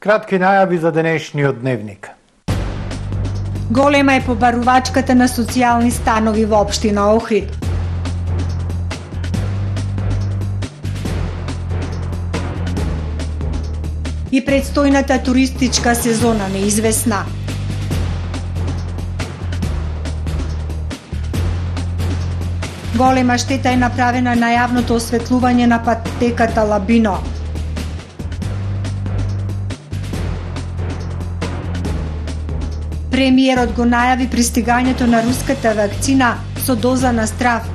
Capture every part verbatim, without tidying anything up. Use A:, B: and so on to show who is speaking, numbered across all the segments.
A: кратки најави за денешниот дневник.
B: Голема е побарувачката на социјални станови во општина Охрид. И предстојната туристичка сезона неизвестна. Голема штета е направена на јавното осветлување на патеката Лабино. Премиерот го најави пристигањето на руската вакцина со доза на страв.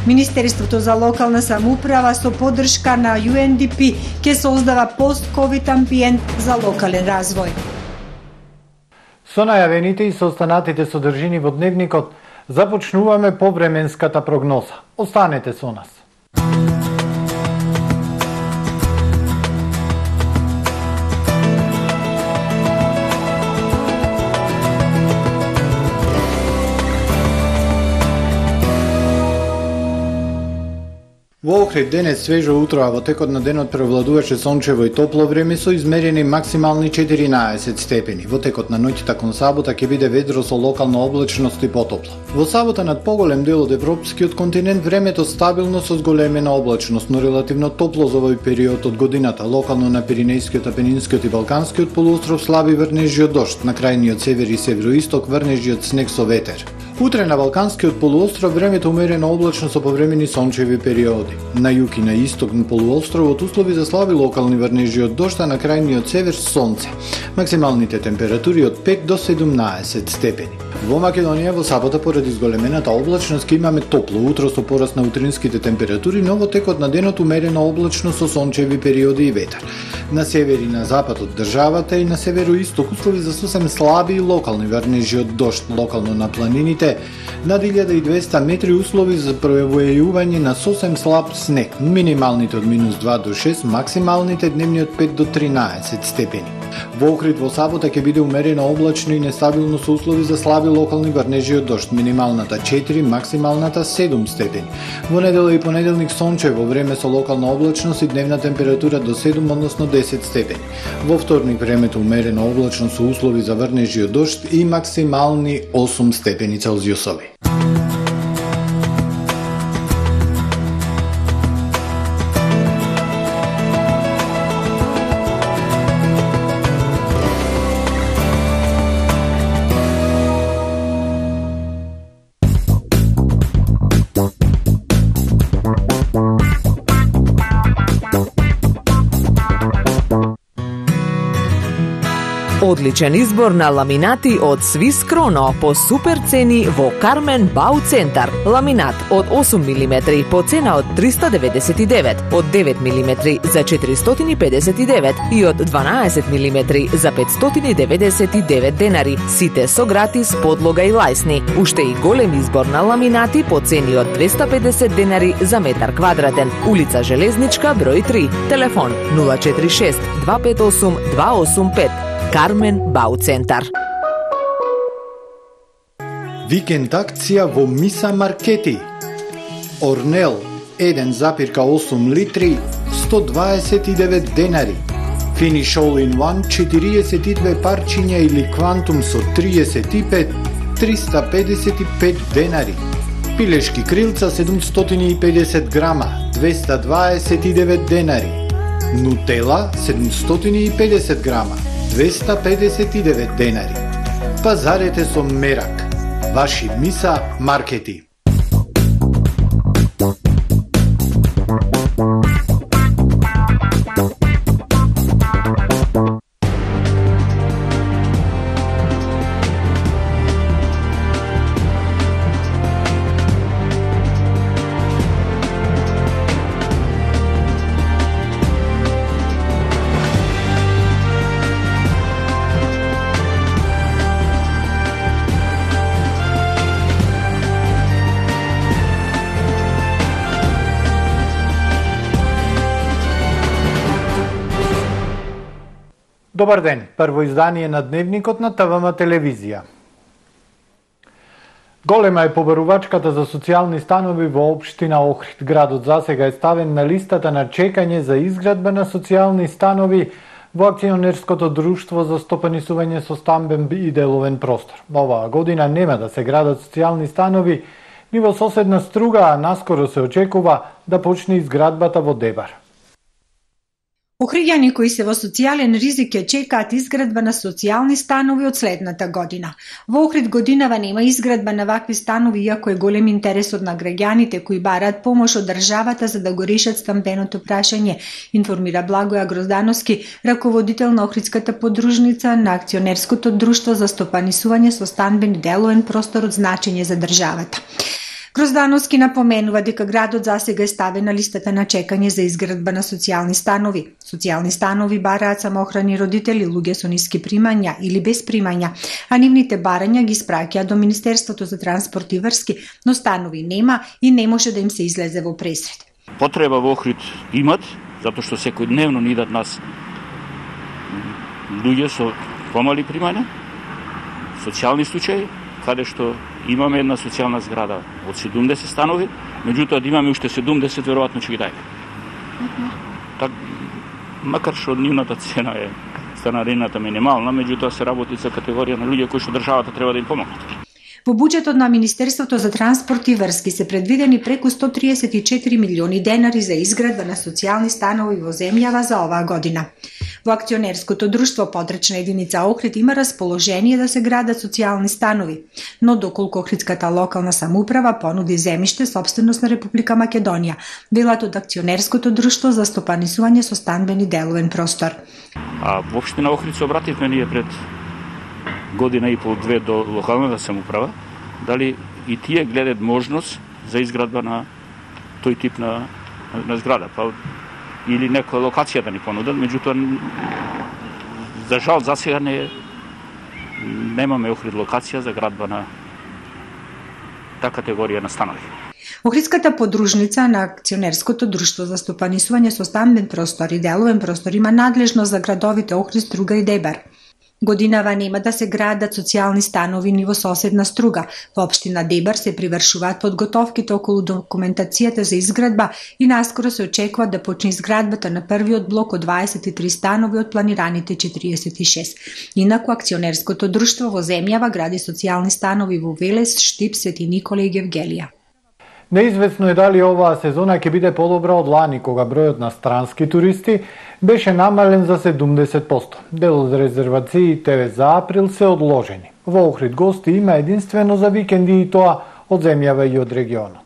B: Министерството за локална самоуправа со поддршка на Ю Ен Ди Пи ќе создава пост-ковид амбиент за локален развој.
A: Со најавените и со останатите содржини во дневникот започнуваме повременската прогноза. Останете со нас. Во Охрид денес свежо утро, а во текот на денот превладуваше сончево и топло време со измерени максимални четиринаесет степени. Во текот на ноќта кон сабота ќе биде ведро со локална облачност и потопло. Во сабота над поголем дел од европскиот континент времето стабилно со зголемена облачност, но релативно топло за овој период од годината. Локално на Пиринејскиот, Апенинскиот и Балканскиот полуостров слаби врнежји дожд, на крајниот север и североисток врнежји од снег со ветер. Утре на Балканскиот полуостров времето умерено облачно со повремени сончеви периоди. На југ и на исток на полуостровот услови за слаби локални врнежи од дожд, а на крајниот север сонце. Максималните температури од пет до седумнаесет степени. Во Македонија во сабота поради зголемената облачност ќе имаме топло утро со пораст на утринските температури, но во текот на денот умерено облачно со сончеви периоди и ветер. На север и на запад од државата и на североисток услови за сосем слаби и локални врнежи од дожд, локално на планините над илјада и двесте метри услови за пројавување на сосем слаб снег, минималните од минус два до шест, максималните дневни од пет до тринаесет степени. Во Охрид во сабота ќе биде умерено облачно и нестабилно со услови за слаби локални врнежи од дожд, минималната четири, максималната седум степени. Во недела и понеделник сончево време со локална облачност и дневна температура до седум, односно десет степени. Во вторник времето умерено облачно со услови за врнежи од дожд и максимални осум степени Целзиусови.
C: Одличен избор на ламинати од Свис Кроно по супер цени во Кармен Бау Центар. Ламинат од осум милиметри по цена од триста деветдесет и девет, од девет милиметри за четиристотини и педесет и девет и од дванаесет милиметри за петстотини и деветдесет и девет денари. Сите со гратис подлога и лајсни. Уште и голем избор на ламинати по цени од двеста и педесет денари за метар квадратен. Улица Железничка, број три. Телефон нула четири шест два пет осум два осум пет. Кармен Бау Центар.
A: Викенд акција во Миса Маркети. Орнел еден запирка осум литри сто дваесет и девет денари. Finish All in One четириесет и две парчиња или Квантум со триесет и пет триста педесет и пет денари. Пилешки крилца седумстотини и педесет грама двеста дваесет и девет денари. Нутела седумстотини и педесет грама двеста педесет и девет денари. Пазарете со мерак. Ваши Миса Маркети. Добар ден, прво издание на Дневникот на Т В М телевизија. Голема е побарувачката за социјални станови во општина Охрид. Градот засега е ставен на листата на чекање за изградба на социјални станови во акционерското друштво за стопанисување со стамбен и деловен простор. Оваа година нема да се градат социјални станови ни во соседна Струга, а наскоро се очекува да почне изградбата во Дебар.
B: Охриѓани кои се во социјален ризик ќе чекаат изградба на социјални станови од следната година. Во Охрид годинава нема изградба на вакви станови, иако е голем интересот на граѓаните кои бараат помош од државата за да го решат стамбеното прашање, информира Благоја Гроздановски, раководител на Охридската подружница на акционерското друштво за стопанисување со стамбен и деловен простор од значење за државата. Гроздановски напоменува дека градот засега е ставен на листата на чекање за изградба на социјални станови. Социјални станови бараат самоохрани родители, луѓе со ниски примања или без примања, а нивните барања ги испраќаат до Министерството за транспорт и врски, но станови нема и не може да им се излезе во пресред.
D: Потреба во Охрид имат, затоа што секојдневно ни идат нас луѓе со помали примања, социјални случаи, каде што имаме една социјална зграда од седумдесет станови, меѓутоа да имаме уште седумдесет, веројатно ќе ги дајме. Так, макар што нивната цена е, станарината минимална, меѓутоа се работи за категорија на луѓе кои што државата треба да им помогнат.
B: Во буџетот на Министерството за транспорт и врски се предвидени преку сто триесет и четири милиони денари за изградба на социјални станови во земјава за оваа година. Во акционерското друштво подречна единица Охрид има расположение да се градат социјални станови, но доколку Охридската локална самоуправа понуди земјиште собственост на Република Македонија, велат од акционерското друштво за стопанисување со стамбен и деловен простор.
D: А во општина Охрид се обративме ние пред година и пол две до локалната самоуправа, дали и тие гледат можност за изградба на тој тип на, на зграда, па или некоја локација да ни понудат, меѓутоа за жал за сега не немаме Охрид локација за градба на таа категорија на станови.
B: Охридската подружница на акционерското друштво за стопанисување со стамбен простор и деловен простор има надлежност за градовите Охрид, Струга и Дебар. Годинава нема да се градат социјални станови ни во соседна Струга. Во општина Дебар се привршуваат подготовките околу документацијата за изградба и наскоро се очекува да почне изградбата на првиот блок од дваесет и три станови од планираните четириесет и шест. Инаку акционерското друштво во земјава гради социјални станови во Велес, Штип, Свети Никола и Гевгелија.
A: Неизвестно е дали оваа сезона ќе биде подобра од лани, кога бројот на странски туристи беше намален за седумдесет проценти. Дел од резервациите за април се одложени. Во Охрид гости има единствено за викенди и тоа од земјава и од регионот.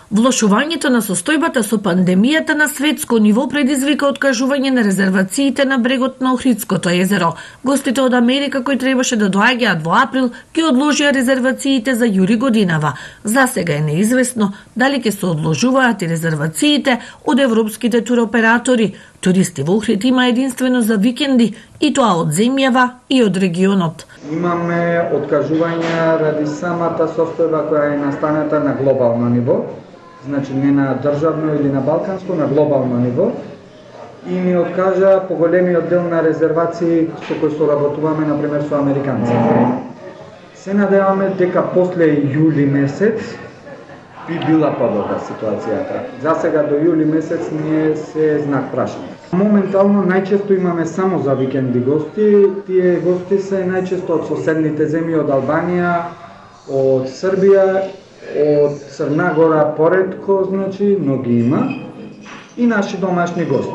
E: Влошувањето на состојбата со пандемијата на светско ниво предизвика откажување на резервациите на брегот на Охридското езеро. Гостите од Америка кои требаше да доаѓаат во април ги одложија резервациите за јули годинава. За сега е неизвестно дали ќе се одложуваат и резервациите од европските туроператори. Туристи во Охрид има единствено за викенди и тоа од земјава и од регионот.
F: Имаме откажувања ради самата состојба која е настаната на глобално ниво. Значи не на државно или на балканско, на глобално ниво. И ни откажа поголемиот дел на резервации со кои соработуваме, например, со американци. Се надеваме дека после јули месец би била подобра ситуацијата. За сега до јули месец ние се знак прашање. Моментално најчесто имаме само за викенди гости. Тие гости се најчесто од соседните земји, од Албанија, од Србија, од Црна Гора поредко, значи, но ги има, и наши домашни гости.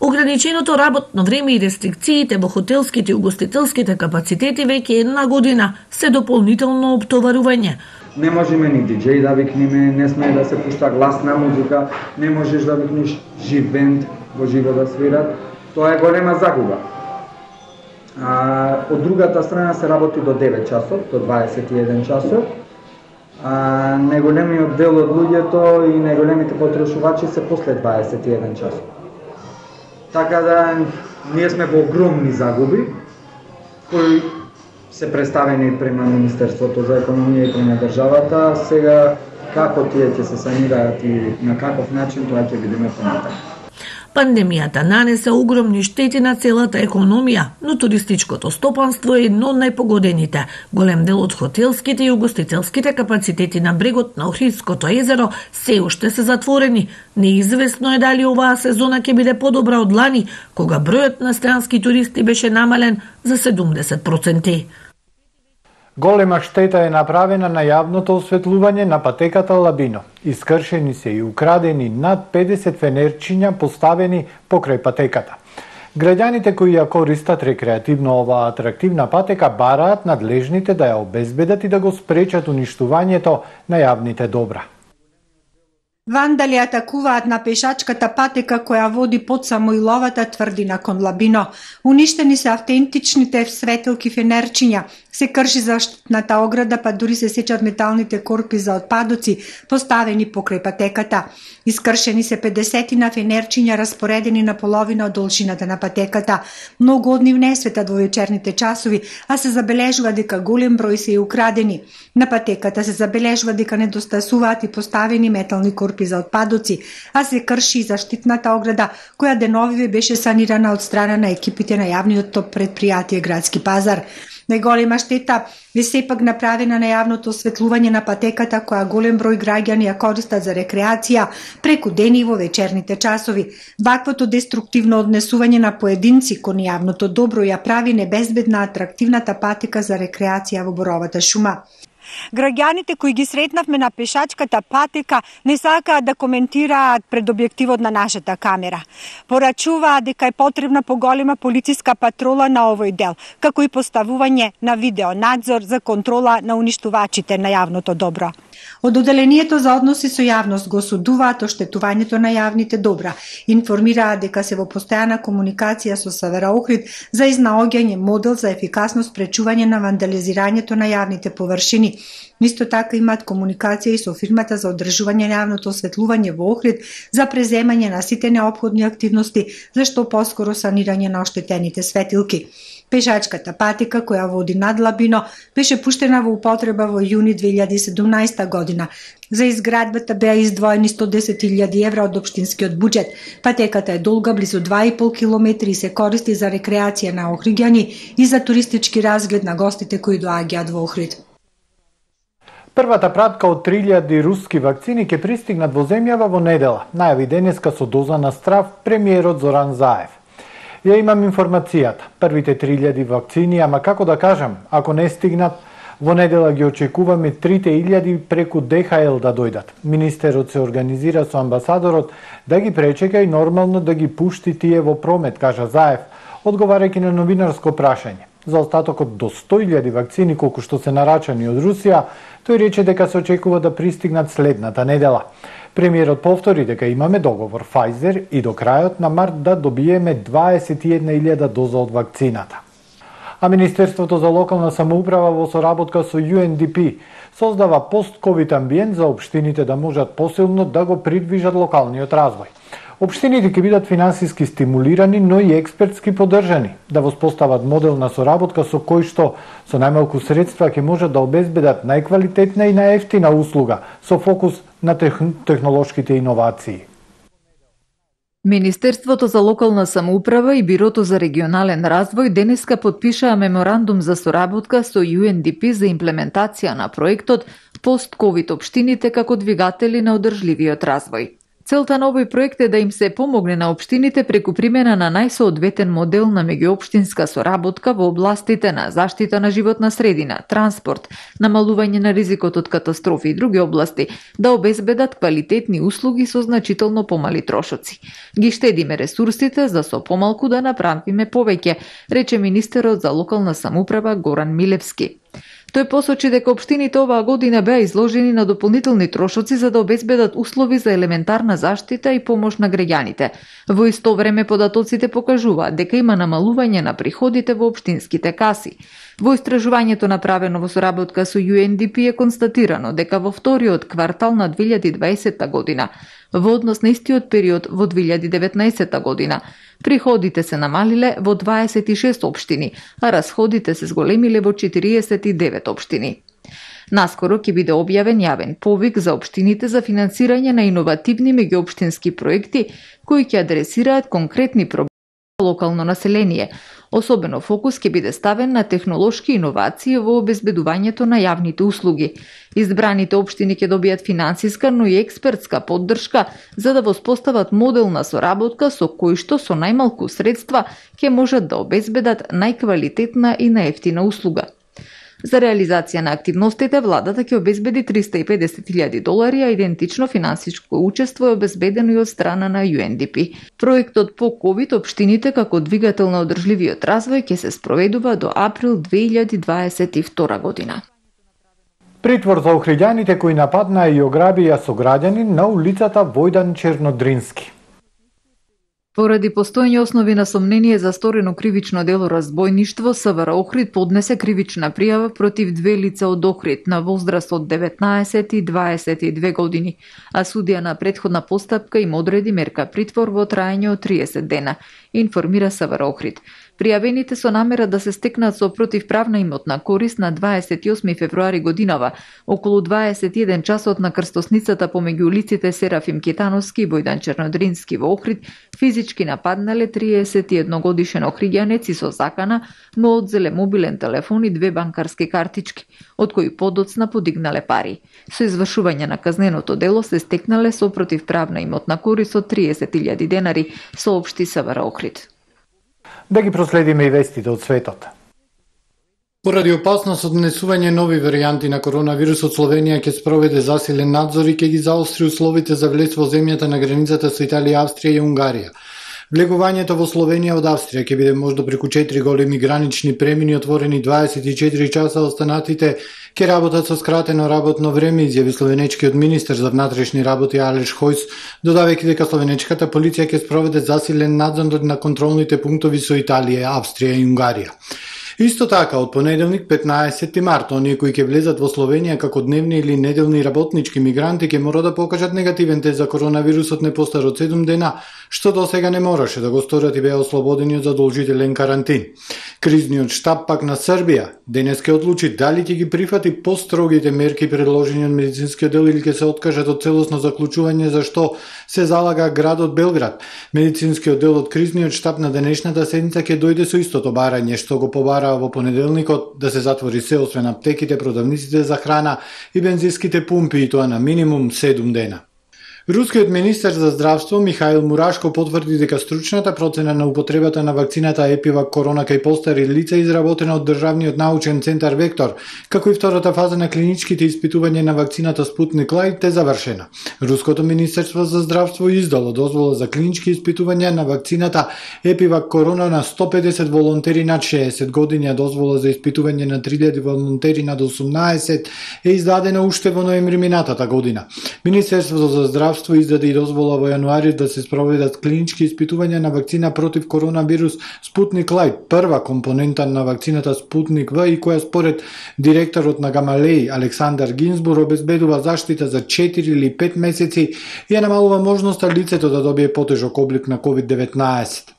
E: Ограниченото работно време и рестрикциите во хотелските и угостителските капацитети веќе една година се дополнително оптоварување.
F: Не можеме ни диџеј да викнеме, не смее да се пушта гласна музика, не можеш да викнеш жив бенд во живо да свират. Тоа е голема загуба. А, од другата страна се работи до девет часот, до дваесет и еден часот. А најголемиот дел од луѓето и најголемите потрошувачи се после дваесет и еден часот. Така да ние сме во огромни загуби кои се представени према Министерството за економија и према државата. Сега како тие ќе се санираат и на каков начин, тоа ќе видиме понатаму.
E: Пандемијата нанесе огромни штети на целата економија, но туристичкото стопанство е едно од најпогодените. Голем дел од хотелските и угостителските капацитети на брегот на Охридското езеро се уште се затворени. Неизвестно е дали оваа сезона ќе биде подобра од лани, кога бројот на странски туристи беше намален за седумдесет проценти.
A: Голема штета е направена на јавното осветлување на патеката Лабино. Искршени се и украдени над педесет фенерчиња поставени покрај патеката. Граѓаните кои ја користат рекреативно оваа атрактивна патека бараат надлежните да ја обезбедат и да го спречат уништувањето на јавните добра.
B: Вандали атакуваат на пешачката патека која води под Самоиловата тврдина кон Лабино. Уништени се автентичните светилки фенерчиња, се крши заштитната ограда, па дури се сечат металните корпи за отпадоци поставени покрај патеката. Искршени се педесетина фенерчиња распоредени на половина од должината на патеката. Многу од нив не светат во вечерните часови, а се забележува дека голем број се и украдени. На патеката се забележува дека недостасуваат и поставени метални корпи за отпадоци, а се крши и заштитната ограда, која деновиве беше санирана од страна на екипите на јавното предпријатие Градски пазар. Најголема штета е сепак направена на јавното осветлување на патеката која голем број граѓани ја користат за рекреација преку дени во вечерните часови. Ваквото деструктивно однесување на поединци кон јавното добро ја прави небезбедна атрактивната патека за рекреација во Боровата шума. Граѓаните кои ги сретнавме на пешачката патека не сакаат да коментираат пред објективот на нашата камера. Порачуваат дека е потребна поголема полициска патрола на овој дел, како и поставување на видеонадзор за контрола на уништувачите на јавното добро. Од Оделението за односи со јавност го осудуваат оштетувањето на јавните добра. Информираат дека се во постојана комуникација со Севера Охрид за изнаоѓање модел за ефикасно спречување на вандализирањето на јавните површини. Исто така имаат комуникација и со фирмата за одржување на јавното осветлување во Охрид за преземање на сите неопходни активности за што поскоро санирање на оштетените светилки. Пешачката патека која води над Лабино беше пуштена во употреба во јуни две илјади и седумнаесета година. За изградбата беа издвоени сто десет илјади евра од општинскиот буџет. Патеката е долга близу два и пол километри и се користи за рекреација на охриѓани и за туристички разглед на гостите кои доаѓаат во Охрид.
A: Првата пратка од три илјади руски вакцини ќе пристигнат во земјава во недела, најави денеска со доза на страв премиерот Зоран Заев. Ја имам информацијата. Првите три илјади вакцини, ама како да кажам, ако не стигнат, во недела ги очекуваме трите илјади преку Д Х Л да дојдат. Министерот се организира со амбасадорот да ги пречека и нормално да ги пушти тие во промет, кажа Заев, одговарајќи на новинарско прашање. За остатокот до сто илјади вакцини колку што се нарачани од Русија, тој рече дека се очекува да пристигнат следната недела. Премиерот повтори дека имаме договор Pfizer и до крајот на март да добиеме дваесет и една илјада доза од вакцината. А Министерството за локална самоуправа во соработка со Ю Ен Ди Пи создава пост-ковид амбиент за општините да можат посилно да го придвижат локалниот развој. Општините ќе бидат финансиски стимулирани, но и експертски поддржани, да воспостават модел на соработка со кој што со најмалку средства ќе можат да обезбедат најквалитетна и најевтина услуга со фокус на тех... технолошките иновации.
G: Министерството за локална самоуправа и Бирото за регионален развој денеска подпишаа меморандум за соработка со Ю Ен Ди Пи за имплементација на проектот пост-ковид општините како двигатели на одржливиот развој. Целта на овој проект е да им се помогне на општините преку примена на најсоодветен модел на меѓуопштинска соработка во областите на заштита на животна средина, транспорт, намалување на ризикот од катастрофи и други области, да обезбедат квалитетни услуги со значително помали трошоци. Ги штедиме ресурсите за со помалку да направиме повеќе, рече министерот за локална самоуправа Горан Милевски. Тој посочи дека општините оваа година беа изложени на дополнителни трошоци за да обезбедат услови за елементарна заштита и помош на граѓаните. Во исто време податоците покажуваат дека има намалување на приходите во општинските каси. Во истражувањето направено во соработка со Ю Ен Ди Пи е констатирано дека во вториот квартал на две илјади и дваесетта година, во однос на истиот период во две илјади и деветнаесетта година, приходите се намалиле во дваесет и шест општини, а расходите се зголемиле во четириесет и девет општини. Наскоро ќе биде објавен јавен повик за општините за финансирање на иновативни меѓуопштински проекти кои ќе адресираат конкретни проблеми за локално население. Особено фокус ќе биде ставен на технолошки иновации во обезбедувањето на јавните услуги. Избраните општини ќе добијат финансиска, но и експертска поддршка за да воспостават модел на соработка со кој што со најмалку средства ќе можат да обезбедат најквалитетна и најевтина услуга. За реализација на активностите, владата ќе обезбеди триста и педесет илјади долари, а идентично финансиско учество е обезбедено и од страна на Ю Ен Ди Пи. Проектот по ковид општините како двигател на одржливиот развој ќе се спроведува до април две илјади дваесет и втора година.
A: Притвор за охриѓаните кои нападнаа и ограбија сограѓанин на улицата Војдан Чернодрински.
G: Поради постоење основи на сомнение за сторено кривично дело разбойништво, С В Р Охрид поднесе кривична пријава против две лица од Охрид на возраст од деветнаесет и дваесет и две години, а судија на претходна постапка им одреди мерка притвор во траење од триесет дена, информира С В Р Охрид. Пријавените со намера да се стекнат со противправна имотна корист на дваесет и осми февруари годинава, околу дваесет и еден часот на крстосницата помеѓу улиците Серафим Китановски и Војдан Чернодрински во Охрид, физички нападнале триесет и едногодишен охриѓанец и со закана му одзеле мобилен телефон и две банкарски картички, од кои подоцна подигнале пари. Со извршување на казненото дело се стекнале со противправна имотна корист од триесет илјади денари, соопшти С В Р Охрид.
A: Да ги проследиме и вестите од светот. Поради опасност од внесување нови варијанти на коронавирусот, Словенија ќе спроведе засилен надзор и ќе ги заостри условите за влез во земјата на границата со Италија, Австрија и Унгарија. Влегувањето во Словенија од Австрија ќе биде можда преку четири големи гранични премини отворени дваесет и четири часа, останатите ќе работат со скратено работно време, изјави словенечкиот министер за внатрешни работи Алеш Хојс, додавајќи дека словенечката полиција ќе спроведе засилен надзор на контролните пунктови со Италија, Австрија и Унгарија. Исто така, од понеделник петнаесети март, оние кои ќе влезат во Словенија како дневни или неделни работнички мигранти ќе мора да покажат негативен тест за коронавирусот не постар од седум дена, што до сега не мораше да го сторат и беа ослободени од задолжителен карантин. Кризниот штаб пак на Србија денес ќе одлучи дали ќе ги прифати построгите мерки предложени од медицинскиот дел или ќе се откажат од целосно заклучување, за што се залага градот Белград. Медицинскиот дел од кризниот штаб на денешната седница ќе дојде со истото барање што го побара во понеделникот, да се затвори се освен аптеките, продавниците за храна и бензинските пумпи, и тоа на минимум седум дена. Рускиот министер за здравство Михаил Мурашко потврди дека стручната процена на употребата на вакцината Епивак Корона кај постари лица изработена од Државниот научен центар Вектор, како и втората фаза на клиничките испитувања на вакцината Спутник Лайт е завршена. Руското министерство за здравство издало дозвола за клинички испитувања на вакцината Епивак Корона на сто педесет волонтери над шеесет години, а дозвола за испитување на три илјади волонтери над осумнаесет е издадена уште во ноември минатата година. Министерството за здравство издаде и дозвола во јануари да се спроведат клинички испитувања на вакцина против коронавирус Спутник Лайт, прва компонента на вакцината Спутник В, и која според директорот на Гамалеј Александар Гинзбур обезбедува заштита за четири или пет месеци и ја намалува можноста лицето да добие потежок облик на ковид деветнаесет.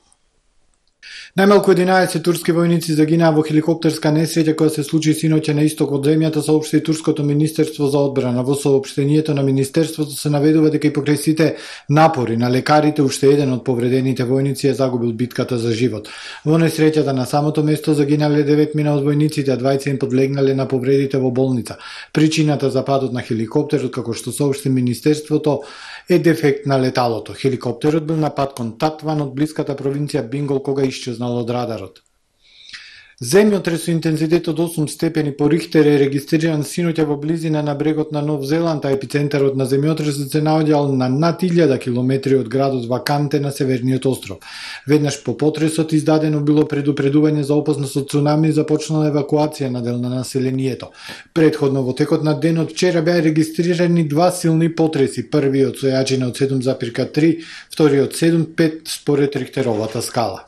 A: Најмалку единаесет турски војници загинаа во хеликоптерска несреќа која се случи синоќа на исток од земјата, соопшти турското министерство за одбрана. Во соопштението на министерството се наведува дека и покрај сите напори на лекарите, уште еден од повредените војници е загубил битката за живот. Во несреќата на самото место загинале деветмина од војниците, а двајца им подлегнале на повредите во болница. Причината за падот на хеликоптерот, како што соопшти министерството, е дефект на леталото. Хеликоптерот бил на пат кон Татван од блиската провинција Бингол кога исчезнал од радарот. Земјотрес со интензитет од осум степени по Рихтер е регистриран синоќа во близина на брегот на Нов Зеланд, а епицентарот на земјотресот се наоѓал на над илјада километри од градот Ваканте на северниот остров. Веднаш по потресот издадено било предупредување за опасност од цунами и започнала евакуација на дел на населението. Предходно во текот на денот вчера беа регистрирани два силни потреси, првиот со јачина од седум зарез три, вториот седум зарез пет според Рихтеровата скала.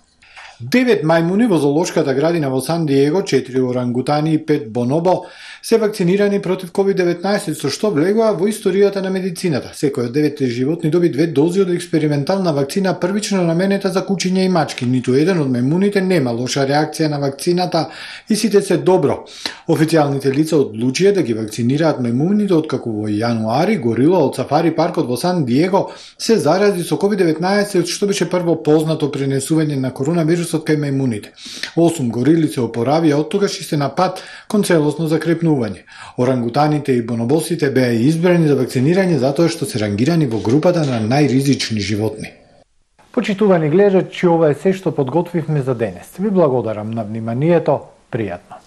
A: Девет мајмуни во зоолошката градина во Сан Диего, четири орангутани и пет бонобо се вакцинирани против ковид деветнаесет, со што влегува во историјата на медицината. Секој од деветте животни доби две дози од експериментална вакцина првично наменета за кучиња и мачки. Ниту еден од мајмуните нема лоша реакција на вакцината и сите се добро. Официјалните лица одлучија да ги вакцинираат мајмуните откако во јануари горила од сафари паркот во Сан Диего се зарази со ковид деветнаесет, што беше прво познато пренесување на коронавирусот кај мајмуните. Осум горили се опоравија од тогаш и се на пат кон целосно закрепнување. Орангутаните и бонобосите беа избрани за вакцинирање затоа што се рангирани во групата на најризични животни.
H: Почитувани гледачи, ова е се што подготвивме за денес. Ви благодарам на вниманието. Пријатно.